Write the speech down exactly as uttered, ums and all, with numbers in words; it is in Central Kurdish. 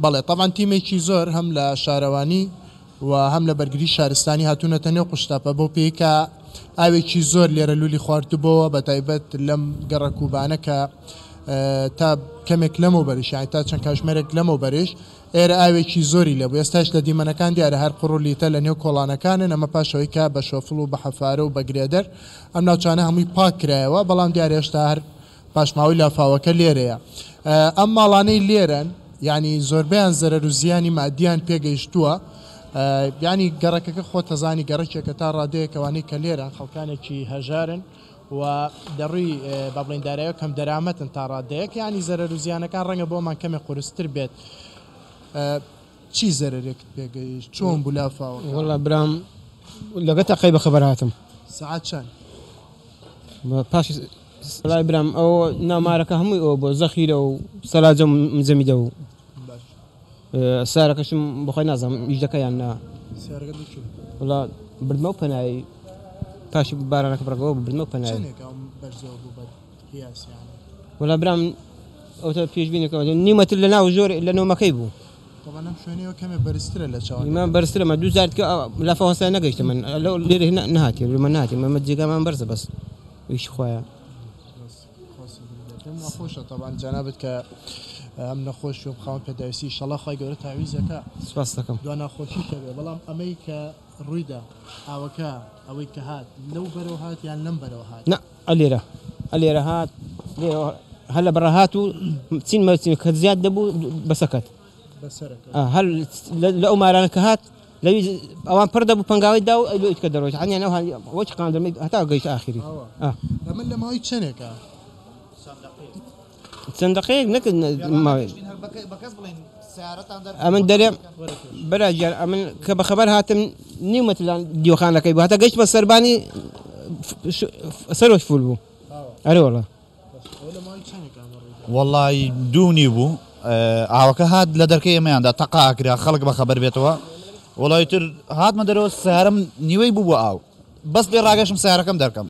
بەڵێ تەبعەن تیمێکی زۆر هەم لە شارەوانی و هەم لە بەرگری شارستانی هاتوونەتە نێو قوشتەپە بۆ پێی کە ئاوێکی زۆر لێرە لولی خواردبەوە، بە تایبەت لەم گەڕەکوبانە کە تا کەمێک لەمەوبەریش، یانی تا چەند کاژمێرێک لەمەوبەریش ئێرە ئاوێکی زۆری لێبوو. ئێستاش لە دیمەنەکان دیارە هەر قوڕ و لیتە لە نێو کۆڵانەکانن، ئەمە پاشەوەی کە بە شۆفڵ و بە حەفارە و بە گرێدەر ئەم ناوچانە هەمووی پاک کرایەوە، بەڵام دیارە هێشتا هەر پاشماوەی لافاوەکە لێرەیە. ئەم ماڵانەی لێرەن یعنی زۆربەیان زەرەر و زیانی مادیان پێگەیشتووە. یعنی گەڕەکەکە خۆتەزانی گەڕەکێکە تا ڕادەیەکەوانەی کە لێرەن خەڵکانێکی هەژارن و دەڕووی با بڵێین دارایەوە کەم دەرامەتن تا ڕادەیەک، یعنی زەرەر و زیانەکان ڕەنگە بۆمان کەمێک قورستر بێت. چی زەرەرێکت پێگەیشت؟ چۆن بوو لافاوەکە؟ وەڵا برام لەگە تەقەی بەخەبەر هاتم. سەعات چەند؟ پاش وەڵای برام ئەو نامارەکە هەمووی ئەوە بۆ زەخیرە و سەلاجە و مجەمیدە و سارەکەشم بەخۆی نازانم ئیش دەکە یان نا. سیارەکە لەکوێ؟ وەڵا بردمەوە پەنایی پاش بارانەکە بڕگەوە بردمەوە پەنایی. چەندێک ئەو بەرزەوە بوو بە قیاس یانی؟ وەڵا برام ئەوتە پێشبینەکەم نیو مەتر لە ناو ژۆر لە نۆمەکەی بوو. طبعا ئەم شوێنەوە کەمێ بەرزترە لە چاوان. ئیمان بەرزترە، مە دوو جار کە لافاو هەستا نەگەیشتە من لەو لێرە نەهاتێ، لە من نەهاتێ، مە جێگامان بەرزە بەس ئیش خوایە. پێم ناخۆشە طبعا جەنابت کە ئەم نەخۆش و خاوەن پێداویستی ئینشەڵڵا خوای گەورە تاویزەکە. سپاس دەکەم. دوا ناخۆشی هەبێ، بەڵام ئەمەی کە ڕوویدا ئاوەکە ئەوەی کە هات لەو بەرەوە هات یان لەم بەرەوە هات؟ نا ئەلێرە ئەلێرە هات، لێرە هەر لە بەڕە هات و چین مەچین کە زیاد دەبوو بەسەکەت. بەسەرەکەت. هەر لە ئەو مارانە کە هات لەوی ئەوان پڕ دەبوو پەنگاوی دا و لۆ ئیتکە دەڕۆیشت. هەنیان ئەو هەنی وەچ قاندرمەی هەتا گەیشت ئاخری. ئەمە لە ماوەی چەندێکە؟ چەند دقەیەک نەکرد ماوەی. ئەمن دەرێم برا گیان، ئەمن کە بەخەبەر هاتم نیو مەتر لە دیوەخانەکەی بوو، هەتا گەیشتمە سەربانی سەرۆش فول بوو. ئەرێ وەڵا. وەڵای دوو نیو بوو، ئاوەکە هات لە دەرکەی ئێمەیاندا تەقا ئەکرا خەڵک بەخەبەر بێتەوە. وەڵای تر هاتمە دەرەوە سیارەم نیوەی بوو بۆ ئاو، بەس لێ ڕاگەشم سیارەکەم دەرکەم.